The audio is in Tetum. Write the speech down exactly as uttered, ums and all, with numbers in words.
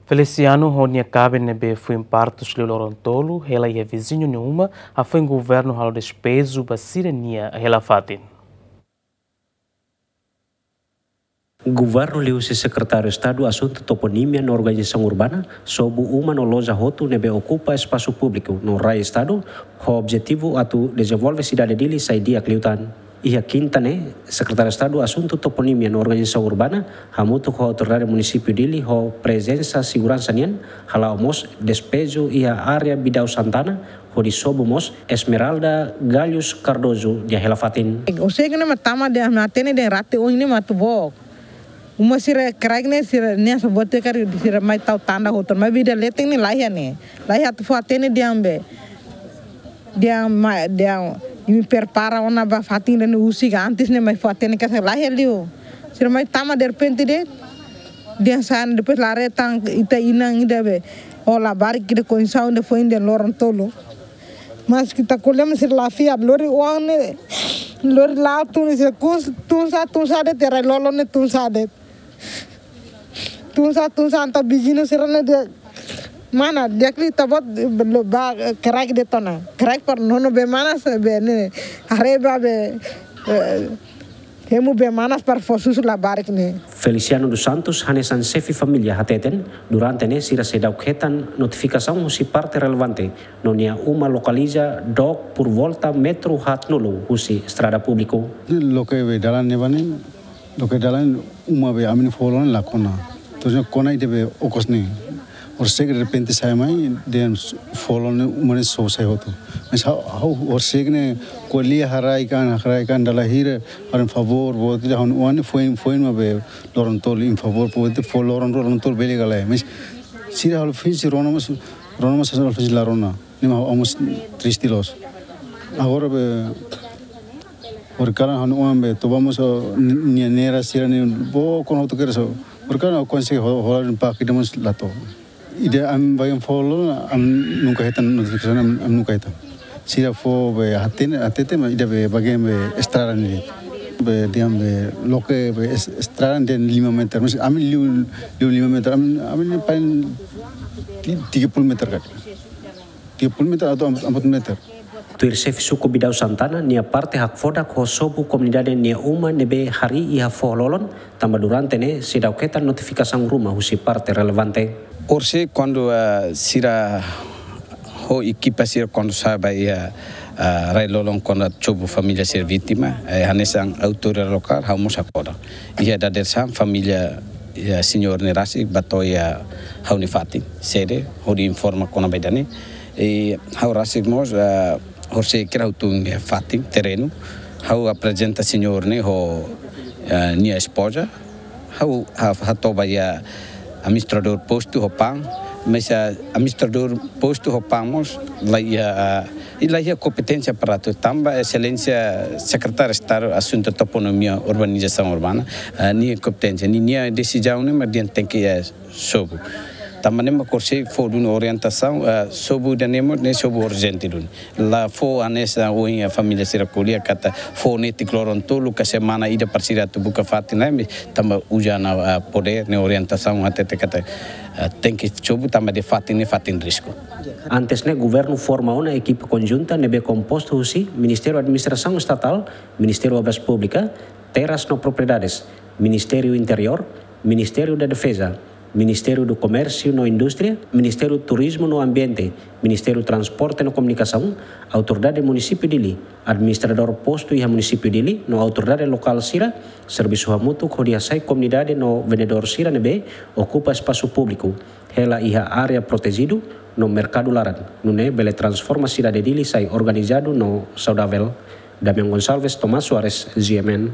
Feliciano ho nia kaben ne'ebé foin partus liu loron tolu hela iha viziñu nia uma, hafoin governu halo despeju ba sira-nia hela-fatin. Governu liuhusi Sekretáriu Estadu Asuntu Toponímia no Organizasaun Urbana sobu uma no loja hotu ne'ebé okupa espasu públiku no rai Estadu, ho objetivu atu dezenvolve sidade Dili sai di'ak liután. Iha kinta ne'e, Sekretáriu Estadu Asuntu Toponímia no Organizasaun Urbana hamutuk ho Autoridade Munisípiu Dili ho prezensa seguransa nian hala'o mós despeju iha área Bidau Santana, hodi sobu mós Esmeralda Galhos Cardoso nia hela-fatin. Horisehik ne'e mak tama dehan, mak hatene dehan rate oin ne'e mak atu book. Uma sira kraik ne'e sira-nia sabotadór sira mai tau tanda hotu, maibé ida leten ne'e laiha ne'e. Laiha atu fó hatene dehan be, dehan mai, dehan imi prepara ona ba fatin ne'e husik antes ne'e mai fó hatene katak laiha liu. Sira mai tama derrepente de'it, dehan sa'e depois la haree tan ita inan ida be, ho labarik ida kondisaun ida foin dehan loron tolu. Mas ita ko'alia mak sira la fiar, lori oan ne'e, lori la'o tun sira kus, tun sa'e, tun sa'e de'it, rai-lolon ne'e tun sa'e de'it. Tun sa'e, tun sa'e, entaun viziñu sira-ne'e dehan, mana, di'ak liu ita-boot, lo ba, kraik de'it ona. Kraik para nono bee manas, be ne'e, haree ba be, eh, hemu bee manas para fó susu labarik ne'e. Feliciano dos Santos hanesan xefe família hateten, durante ne'e sira seidauk hetan notifikasaun husi parte relevante, no nia uma lokaliza dook por volta metru haatnulu husi estrada públiku. Loke be dalan ne'ebá ne'e, loke dalan uma be ami-nia foho-loron ne'e la kona. Terus ne'e kona ida be okos ne'e. Horisehik derrepente sa'e mai, dehan foho-loron ne'e uma ne'e sobu sai hotu. Mas ha'u, ha'u horisehik ne'e ko'alia haraik an, haraik an dala hira, haraik an favór, favór, ida ha'u-nia oan ne'e foin, foin mak be loron tolu, imi favór, favór, ita fó loron, loron tolu bele ka lae. Mas sira halo fisi rona mas, rona mas halo fisi la rona. Ne'e mak ha'u mós triste loos. Agora be, hori kalan ha'u-nia oan be, toba mós, o, ni-, nia nera sira-ne'e, book ona hotu kedas. Hori kalan ha'u konsege ho-, hola den pak ida mós la to'o. Ida ami bagian foho-loron, ami nunka hetan notifikasaun, ami, ami nunka hetan. Sira fó be hatene, hatete mak ida be bagian be estrada ne'e. Be dehan be loke be es-, estrada dehan lima meter. Mas ami liu, liu lima meter, ami, ami ne'e paling ti-, tiga puluh meter karik. Tiga puluh meter atau empat puluh meter. Tuir xefe suku Bidau Santana, nia parte hakfodak ho sobu komunidade nia uma ne'ebé harii iha foho-loron, tanba durante ne'e seidauk hetan notifikasaun ruma husi parte relevante. Horisehik kuandu, ah, sira ho ekipa sira kuandu sa'e ba iha, ah, rai-lolon kuandu sobu família sira vítima, eh, hanesan autoridade lokál, ha'u mós hakfodak. Iha dadeer-saan família, iha señór ne'e rasik bá to'o iha ha'u-nia fatin, sede, hodi informa kona-ba ida-ne'e. I ha'u rasik mós, ah, horisehik ha'u tun iha fatin, terrenu. Ha'u aprezenta señór ne'e ho, ah, nia espoza. Ha'u ha-, hato'o ba iha administradór postu ho PAM. Mas, ah, administradór postu ho PAM mós la iha, ah, i la iha kompeténsia para atu tanba Exelénsia Sekretáriu Estadu Asuntu Toponímia Urbanizasaun Urbana, ah, nia kompeténsia, ni-, nia desizaun ne'e mak dehan tenke, eh, sobu. Tanba ne'e mak horisehik fó duni orientasaun, ah, sobu ida-ne'e mós ne'e sobu urjente duni. La fó hanesan ohin família sira ko'alia katak fó netik loron tolu ka semana ida para sira atu buka fatin ne'e, tanba uza ona, ah, podér ne'e orientasaun hatete katak, ah, tenke sobu tanba dehan fatin ne'e fatin risku. Antes ne'e governu forma ona ekipa konjunta ne'ebé kompostu husi Ministériu Administrasaun Estatál, Ministériu Obras Públikas, Terras no Propriedades, Ministériu Interiór, Ministériu da Defeza, Ministériu do Komérsiu no Indústria, Ministériu Turizmu no Ambiente, Ministériu Transporte no Komunikasaun, Autoridade Munisípiu Dili, administradór postu iha Munisípiu Dili no autoridade lokál sira, servisu hamutuk hodi hasai komunidade no vendedór sira ne'ebé okupa espasu públiku, hela iha área protejidu no merkadu laran, nune'e bele transforma sidade Dili sai organizadu no saudavel. Damian Gonçalves, Tomás Soares, G M N.